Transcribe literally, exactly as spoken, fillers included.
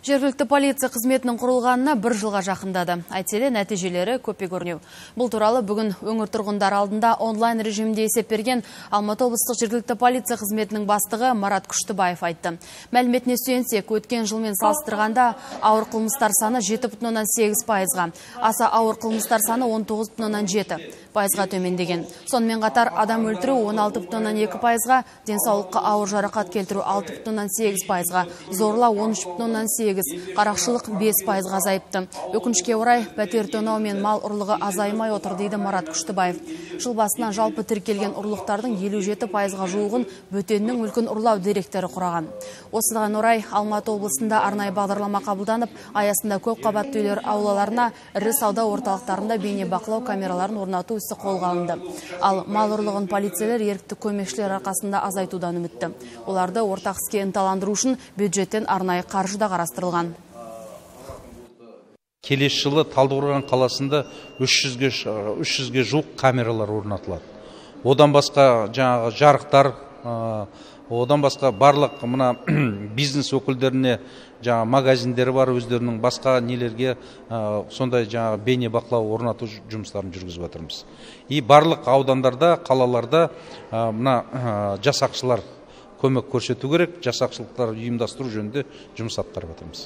Жергілікті полиция қызметінің құрылғанына бір жылға жақындады. Әйтселе нәтижелері көпе көрінеу. Бұл туралы бүгін өңір тұрғындар алдында онлайн режимде есеп берген Алматы облыстық жергілікті полиция қызметінің бастығы Марат Күштібаев айтты. Мәліметіне сүйенсек, өткен жылмен салыстырғанда ауыр қылмыстар саны жеті бүтін оннан сегіз пайызға, аса ауыр қылмыстар саны он тоғыз бүтін оннан жеті пайызға төмендеген. Сонымен қатар адам өлтіру он алты бүтін оннан екі пайызға, денсаулыққа ауыр жарақат келтіру алты бүтін оннан сегіз пайызға, зорлау он үш бүтін оннан сегіз, қарақшылық бес пайызға азайыпты. Өкінішке орай, пәтер тонау мен мал ұрлығы азаймай отыр дейді Марат Күштібаев. Жыл басынан жалпы тіркелген ұрлықтардың елу жеті пайызға жуығын бөтеннің мүлкін ұрлау деректері құраған. Осыған орай Алматы облысында арнайы бағдарлама қабылданып, аясында көп қабатты үйлер аулаларына, ірі сауда орталықтарында бейне бақылау камераларын орнату ісі қолға алынды. Ал мал ұрлығын полицейлер ерікті көмекшілер арқасында азайтудан үмітті. Оларды ортақ іске ынталандыру үшін бюджеттен арнайы қаржы да қарастырылған. Келесі жылы Талдықорған қаласында үш жүзге жуық камералар орнатылады. Одан басқа жаңағы жарықтар, одан басқа барлық мына бизнес өкілдеріне жаңа магазиндері бар, өздерінің басқа нелерге сондай жаңа бейне бақылау орнату жұмыстарын жүргізіп жатырмыз. И барлық аудандарда, қалаларда мына жасақшылар көмек көрсету керек, жасақшылықтар ұйымдастыру жөнінде жұмыс атқарып жатырмыз.